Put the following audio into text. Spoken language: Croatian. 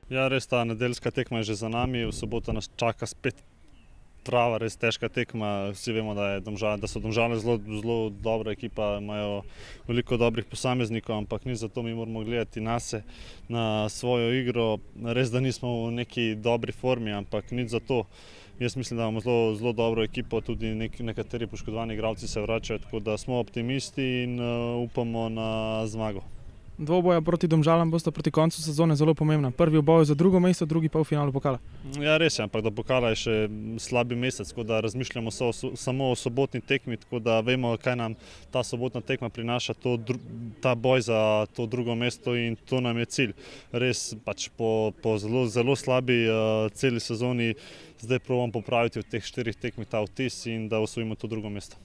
Ja, res ta nedeljska tekma je že za nami, v soboto nas čaka spet prava, res težka tekma. Vsi vemo, da so Domžale zelo dobra ekipa, imajo veliko dobrih posameznikov, ampak ni zato, mi moramo gledati nase, na svojo igro. Res, da nismo v neki dobri formi, ampak nič zato. Jaz mislim, da imamo zelo dobro ekipo, tudi nekateri poškodovani igralci se vračajo, tako da smo optimisti in upamo na zmago. Dvoboja proti Domžalam bosta proti koncu sezone zelo pomembna. Prvi v boju za drugo mesto, drugi pa v finalu pokala. Ja, res je, ampak do pokala je še slabi mesec, tako da razmišljamo samo o sobotni tekmi, tako da vemo, kaj nam ta sobotna tekma prinaša, ta boj za to drugo mesto, in to nam je cilj. Res pač po zelo slabi celi sezoni zdaj probamo popraviti v teh 4 tekmih ta vtis in da osvojimo to drugo mesto.